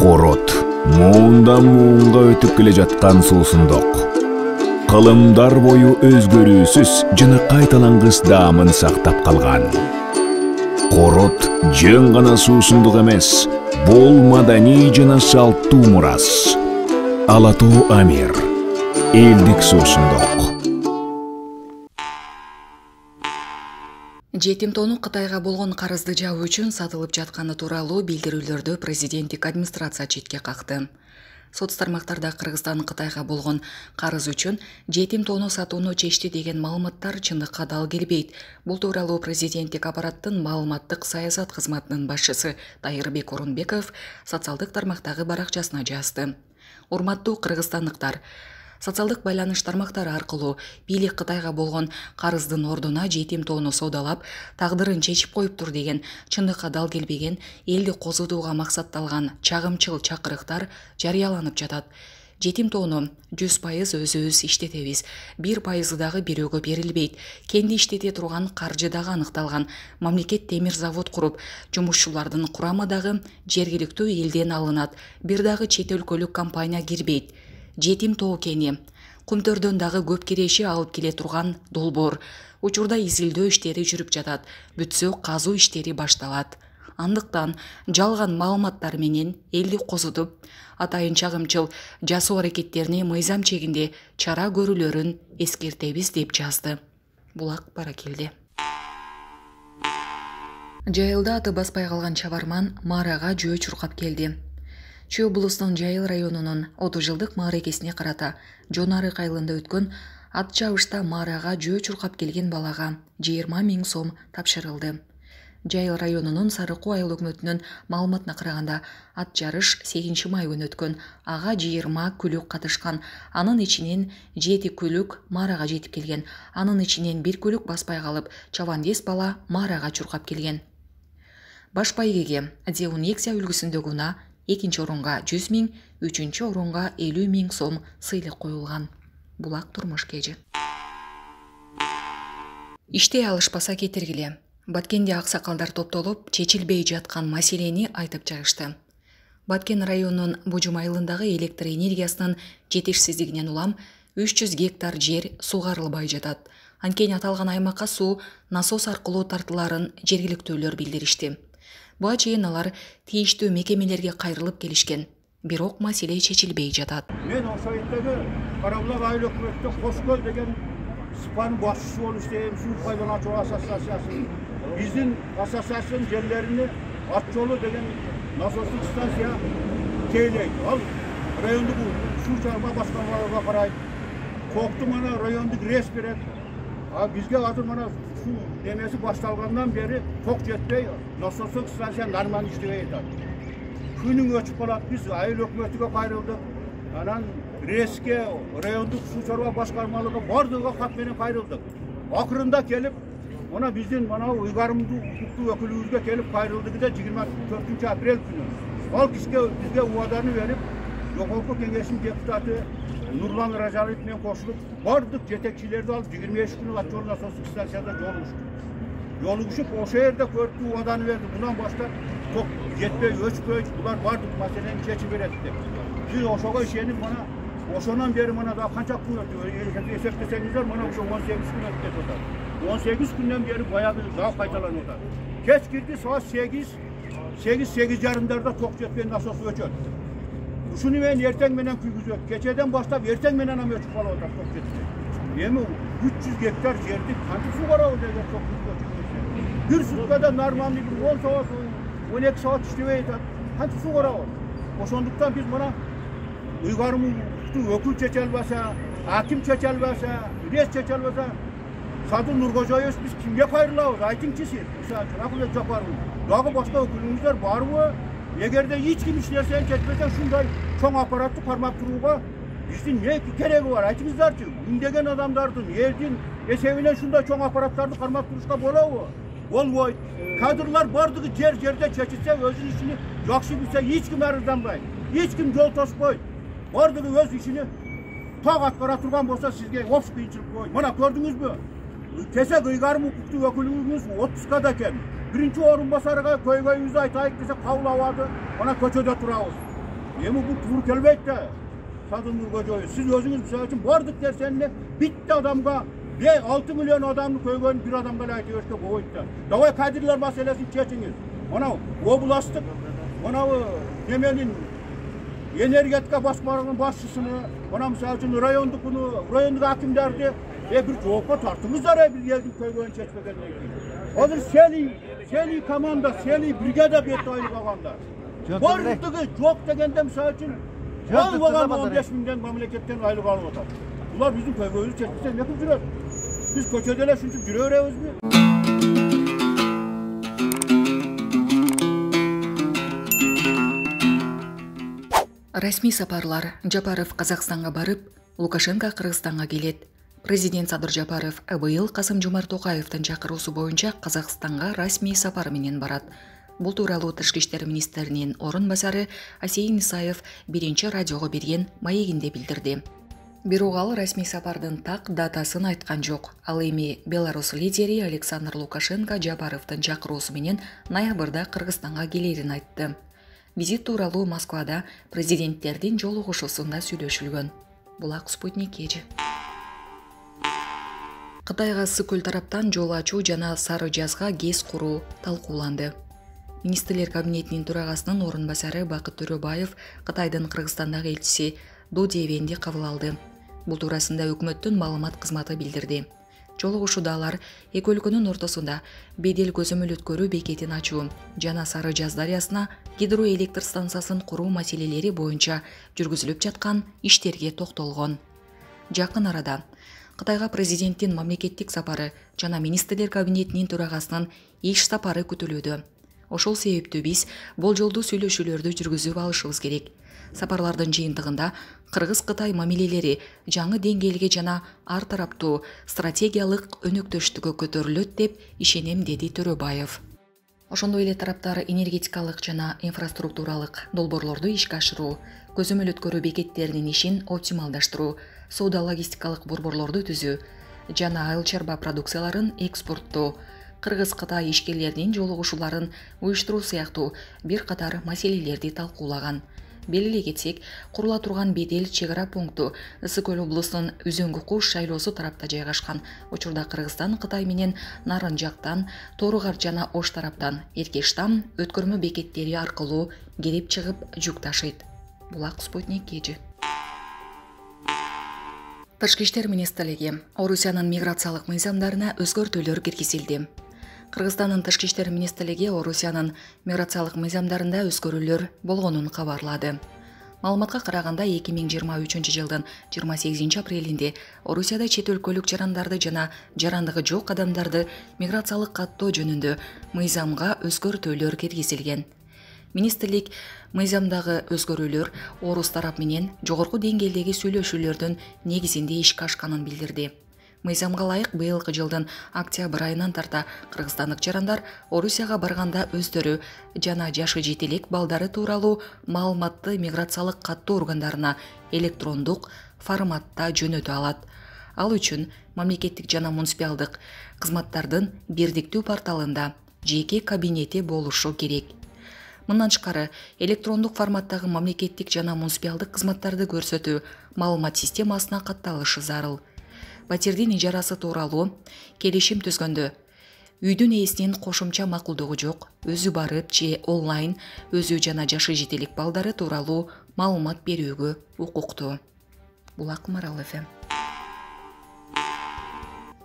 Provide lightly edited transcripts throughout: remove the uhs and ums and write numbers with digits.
Корот муундан муунга өтүп келе жаткан суусундук. Кылымдар бою өзгөрүүсүз жана кайталангыс даамын сактап калган. Корот жөн гана суусундук эмес, бул маданий жана салттуу мурас. Ала Тоо Амир, элдик суусундук. Жетим тоону Кытайга болгон карызды жабуу үчүн сатылып жатканы тууралуу билдирүүлөрдү президенттик администрация четке какты. Соц тармактарда Кыргызстан Кытайга болгон карыз үчүн жетим тоону сатууну чечти деген маалыматтар чындыкка дал келбейт. Бул тууралуу президенттик аппараттын маалыматтык саясат кызматынын башчысы Дайырбек Орунбеков социалдык тармактагы баракчасына жазды. Урматтуу кыргызстандыктар, социалдык байланыш тармактары аркылуу бийлик Кытайга болгон карыздын ордуна жетим тоону соодалап, тагдырын чечип коюптур деген чындыкка дал келбеген, элди козутууга максатталган чагымчыл чакырыктар жарыяланып жатат. Жетим тоону 100% өзүбүз иштетебиз, 1% дагы бирөөгө берилбейт. Кенди иштете турган каржы дагы аныкталган. Мамлекет темир завод куруп, жумушчулардын курамы дагы жергиликтүү элден алынат. Бир дагы чет өлкөлүк компания кирбейт. Жетим тоо кени Кумтөрдөн дагы көп киреши алып келе турган долбоор. Учурда изилдөө иштери жүрүп жатат. Бүтсө казуу иштери башталат. Андыктан жалган маалыматтар менен элди козутуп, атайын чагымчыл жасоо аракеттерине мыйзам чегинде чара көрүлөрүн эскертебиз деп жазды. Булак Баракелди. Жайылда аты баспай калган чабарман Марага жөө чуркап келди. Чүй облусунун Жайыл районунун 30 жылдык мааракесине карата Жонарык айылында өткөн ат чабышта Марага жөө чуркап келген балага 20 000 сом тапшырылды. Жайыл районунун Сарыкуу айыл өкмөтүнүн маалыматына караганда, ат жарыш 8 май күнү өткөн. Ага 20 күлүк катышкан. Анын ичинен 7 күлүк Марага жетип келген. Анын ичинен 1 күлүк баспай калып, чабандес бала Марага чуркап келген. Баш байгеге Деунексия үлгүсүндөгү унаа 2 орунга 100 000, 3 орунга 50 000 сом сыйлык коюлган. Булак турмуш кежи. Иштей алышпаса кетиргиле. Баткенде аксакалдар топтолуп, чечилбей жаткан маселени айтып чыгышты. Баткен районунун Бужум айылындагы электр энергиясынын жетишсиздигинен улам 300 гектар жер сугарылбай жатат. Анткени аталган аймакка суу насос аркылуу тартыларын жергиликтүүлөр билдиришти. Буга чейин алар тийиштүү мекемелерге кайрылып келишкен. Бирок маселе чечилбей жатат. Мен ошол жердеги Карабулак айыл өкмөтүнө Кошкөл деген СПАнын башчысы болуп иштейм. Суу пайдалануучу ассоциациясы. Биздин ассоциациянын жерлерини ат жолу деген насостук станция тейлейт. Ал райондук суу чыгарма башкармаларга карайт. Кокту мана райондук рейс берет. А бизге азыр мана суу немеси башталгандан бери ток жетпей, насостук станция нормально иштебей атат. Күнүң өчүп калат. Биз айыл өкмөтүгө кайрылдык. Анан рейске райондук суу чыгарма башкармалыгы бардыгы кат менен кайрылдык. Акырында келип, мына биздин мана уйгарымдуу укуктуу өкүлүбүзгө келип кайрылдык да 24 апрель күнү. Ал бизге убаданы берип, жогорку кеңештин депутаты Нурлан Ражалиев менен кошулуп, бардык жетекчилерди алып 23 күнү ат жол насостук станцияда жолугушуп, ошол жерде көрүктүү убаданы берди. Мындан баштап ток жетпей, өчпөй, булар бардык маселени чечип берет деп. Биз ошого ишенип, мана ошондан бери мана да канча күн өтүп, эсептесеңиздер, мана ошо 18 күн өтүп атат. 18 күндөн бери баягы дагы кайталанып атат. Кеч кирди саат 8:30 ток жетпей насос өчөт. Ушуну мен эртең менен күйгүзөт. Кечеден баштап эртең менен өчүп калып атат ток жетпей. Эми 300 гектар жерди кантип сугарабыз эгер ток өчүп? Бир суткада нормальный 10 саат, 12 саат иштебей атат. Кантип сугарабыз? Ошондуктан биз мына уйгарымдуу өкүл чече албаса, аким чече албаса, рейс чече албаса, Садыр Нуркожоевич биз кимге кайрылабыз? Айтыңчы сиз. Мисалы үчүн Акылбек Жапаров. Дагы башка өкүлүңүздөр барбы? Эгерде эч ким иш нерсени чечпесе, ушундай чоң аппаратты кармап турууга биздин эмне кереги бар? Айтыңыздарчы. Миңдеген адамдардын, элдин эсебинен ушундай чоң аппараттарды кармап турушка болобу? Болбойт. Кадрлар бардыгы жерде чечилсе, өзүнүн ишин жакшы билсе, эч ким арызданбайт. Эч ким жол тоспойт. Бардыгы өз ишини так аткара турган болсо, сизге опс кыйынчылык болбойт. Мына көрдүңүзбү? Кесе кыйгарым укуктуу өкүлүбүз отпускада экен. Биринчи орун басарга көйгөйүбүздү айтайык десе кабыл албады. Мына көчөдө турабыз. Эми бул туура келбейт да. Садымгүл көчөбү. Сиз өзүңүз мисалы үчүн бардык нерсени битти адамга 6 миллион адамдын көйгөнүн бир адамга эле айтып беришке болбойт да. Давай кадрлар маселесин чечиңиз. Мына областтык мына неменин энергетика басмалыгынын башчысыны, мына мисалы үчүн райондук акимдерди бир жоопко тартыңыздар бир элдин көйгөнүн чечпегенден кийин. Азыр сели команда, сели бригада бет айлык алганда. Бардыгы жок дегенде мисалы үчүн албаган 15 миңден мамлекеттен айлык алып атат. Булар биздин көйгөйүбүздү чечпесе эмне кылып жүрөт? Биз көчөдө эле ушинтип жүрө беребизби? Расмий сапарлар. Жапаров Казакстанга барып, Лукашенко Кыргызстанга келет. Президент Садыр Жапаров быйыл Касым-Жомарт Токаевдин чакыруусу боюнча Казакстанга расмий сапар менен барат. Бул тууралуу Тышкы иштер министринин орун басары Асейин Исаев биринчи радиого берген маегинде билдирди. Бирок ал расмий сапардын так датасын айткан жок. Ал эми Беларусь лидери Александр Лукашенко Жапаровдун чакыруусу менен ноябрда Кыргызстанга келерин айтты. Визит тууралуу Москвада президенттердин жолугушуусунда сүйлөшүлгөн. Булак Спутник эжи. Кытайга Ысык-Көл тараптан жол ачуу жана Сары Жазга ГЭС куруу талкууланды. Министрлер кабинетинин төрагасынын орун басары Бакыт Төрөбаев Кытайдын Кыргызстандагы элчиси Ду Девенди кабыл алды. Бул туурасында өкмөттүн маалымат кызматы билдирди. Жолугушууда алар эки өлкөнүн ортосунда бедел көзөмөл өткөрүү бекетин ачуу жана Сары Жаз дарыясына гидроэлектр станциясын куруу маселелери боюнча жүргүзүлүп жаткан иштерге токтолгон. Жакын арада Кытайга президенттин мамлекеттик сапары жана министрлер кабинетинин төрагасынын иш сапары күтүлүүдө. Ошол себептүү биз болжолдуу сүйлөшүүлөрдү жүргүзүп алышыбыз керек. Сапарлардын жыйынтыгында Кыргыз-Кытай мамилелери жаңы деңгээлге жана ар тараптуу стратегиялык өнөктөштүккө көтөрүлөт деп ишенем, деди Төрөбаев. Ошондой эле тараптар энергетикалык жана инфраструктуралык долбоорлорду ишке ашыруу, көзөмөл өткөрүү бекеттеринин ишин оптималдаштыруу, соода-логистикалык борборлорду түзүү жана айыл чарба продукцияларын экспорттоо, Кыргыз-Кытай ишкерлеринин жолугушууларын уюштуруу сыяктуу бир катар маселелерди талкуулаган. Белгилей кетсек, курула турган бедел чек ара пункту Ысык-Көл облусунун Үзөңгү Куш шайлоосу тарапта жайгашкан. Учурда Кыргызстан Кытай менен нарын жактан, Тору-Кар жана Ош тараптан Эркештам өткөрмө бекеттери аркылуу кирип чыгып жүк ташыйт. Булак Спутник эжи. Тышкы иштер министрлиги Орусиянын миграциялык мыйзамдарына өзгөртүүлөр киргизилди. Кыргызстандын Тышкы иштер министрлиги Орусиянын миграциялык мыйзамдарында өзгөрүүлөр болгонун кабарлады. Маалыматка караганда 2023 жылдын 28 апрелинде Орусияда чет өлкөлүк жарандарды жана жарандыгы жок адамдарды миграциялык каттоо жөнүндө мыйзамга өзгөртүүлөр киргизилген. Министрлик мыйзамдагы өзгөрүүлөр орус тарап менен жогорку деңгээлдеги сүйлөшүүлөрдүн негизинде ишке ашканын билдирди. Мыйзамга ылайык быйылкы жылдын октябрь айынан тарта кыргызстандык жарандар Орусияга барганда өздөрү жана жашы жете элек балдары тууралуу маалыматты миграциялык каттоо органдарына электрондук форматта жөнөтө алат. Ал үчүн мамлекеттик жана муниципалдык кызматтардын бирдиктүү порталында жеке кабинети болушу керек. Мындан тышкары электрондук форматтагы мамлекеттик жана муниципалдык кызматтарды көрсөтүү маалымат системасына катталышы зарыл. Патердин ижарасы тууралуу келишим түзгөндө үйдүн ээсинин кошумча макулдугу жок, өзү барып же онлайн өзү жана жашы жете элек балдары тууралуу маалымат берүүгө укуктуу. Булак Марал ФМ.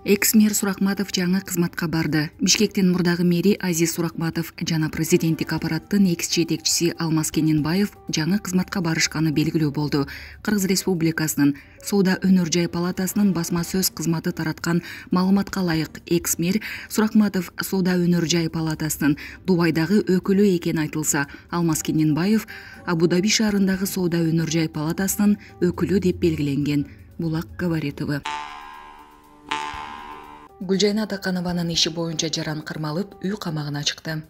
Экс-мэр Суракматов жаңы кызматка барды. Бишкектин мурдагы мэри Азиз Суракматов жана президенттик аппараттын экс-жетекчиси Алмаз Кененбаев жаңы кызматка барышканы белгилүү болду. Кыргыз Республикасынын Соода өнөр жай палатасынын басма сөз кызматы тараткан маалыматка ылайык экс-мэр Суракматов Соода өнөр жай палатасынын Дубайдагы өкүлү экени айтылса, Алмаз Кененбаев Абу-Даби шаарындагы Соода өнөр жай палатасынын өкүлү деп белгиленген. Булак Габаритова. Гүлжайна Атаканованын иши боюнча жаран кырмалып, үй камагына чыкты.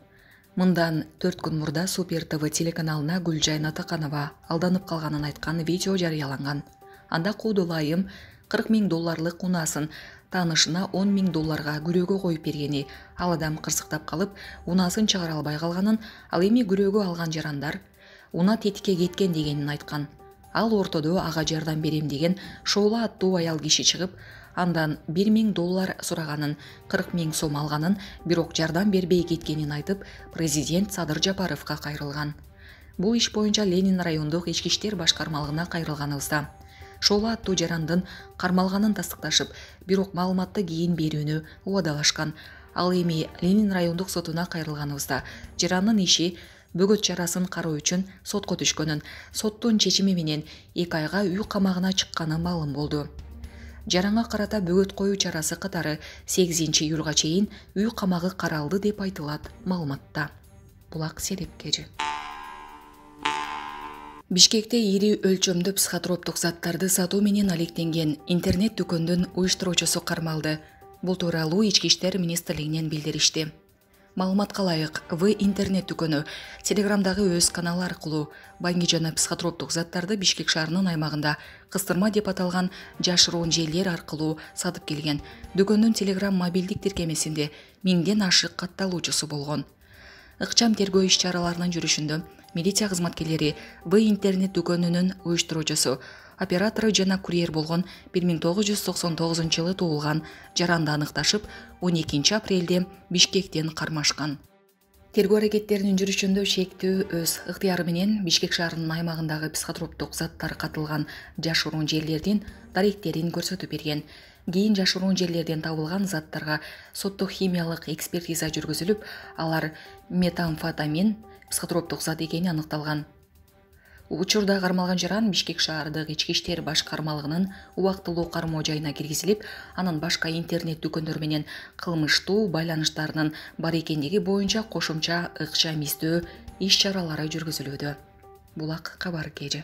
Мындан 4 күн мурда Супер ТВ телеканалына Гүлжайна Атаканова алданып калганын айткан видео жарыяланган. Анда куудулайым $40,000 унаасын таанышына $10,000 күрөөгө коюп бергени, ал адам кырсыктап калып, унаасын чыгара албай калганын, ал эми күрөөгө алган жарандар унаа тетикке кеткен дегенин айткан. Ал ортодо ага жардам берем деген Шоола аттуу аял киши чыгып, андан $1000 сураганын, 40 000 сом алганын, бирок жардам бербей кеткенин айтып, президент Садыр Жапаровго кайрылган. Бул иш боюнча Ленин райондук ички иштер башкармалыгына кайрылганыбызда Шоола аттуу жарандын кармалганын тастыкташып, бирок маалыматты кийин берүүнү убадалашкан. Ал эми Ленин райондук сотуна кайрылганыбызда жарандын иши бөгөт чарасын кароо үчүн сотко түшкөнүн, соттун чечими менен 2 айга үй камагына чыкканы маалым болду. Жаранга карата бөгөт коюу чарасы катары 8-июлга чейин үй камагы каралды деп айтылат маалыматта. Булак Серепкежи. Бишкекте ири өлчөмдүү психотроптук заттарды сатуу менен алектенген интернет дүкөндүн уюштуруучусу кармалды. Бул тууралуу Ички иштер министрлигинен билдиришти. Маалыматка ылайык, В интернет дүкөнү Телеграмдагы өз каналы аркылуу баңги жана психотроптук заттарды Бишкек шаарынын аймагында кыстырма деп аталган жашыруун жерлер аркылуу сатып келген. Дүкөндүн Телеграм мобилдик тиркемесинде 1000ден ашык катталуучусу болгон. Ыкчам тергөө иш-чараларынын жүрүшүндө милиция кызматкерлери В интернет дүкөнүнүн уюштуруучусу, оператору жана курьер болгон 1999-жылы туулган жаранды аныкташып, 12 апрелде Бишкектен кармашкан. Тергөө аракеттеринин жүрүшүндө шектүү өз ыктыяры менен Бишкек шаарынын аймагындагы психотроптук заттар катылган жашыруун жерлердин даректерин көрсөтүп берген. Кийин жашыруун жерлерден табылган заттарга соттук химиялык экспертиза жүргүзүлүп, алар метамфетамин психотроптук зат экени аныкталган. Учурда кармалган жаран Бишкек шаардык ички иштер башкармалыгынын убактылуу кармоо жайына киргизилип, анын башка интернет дүкөндөр менен кылмыштуу байланыштарынын бар экендиги боюнча кошумча ыкчам издөө иш-чаралары жүргүзүлүүдө. Булак Кабар Кежи.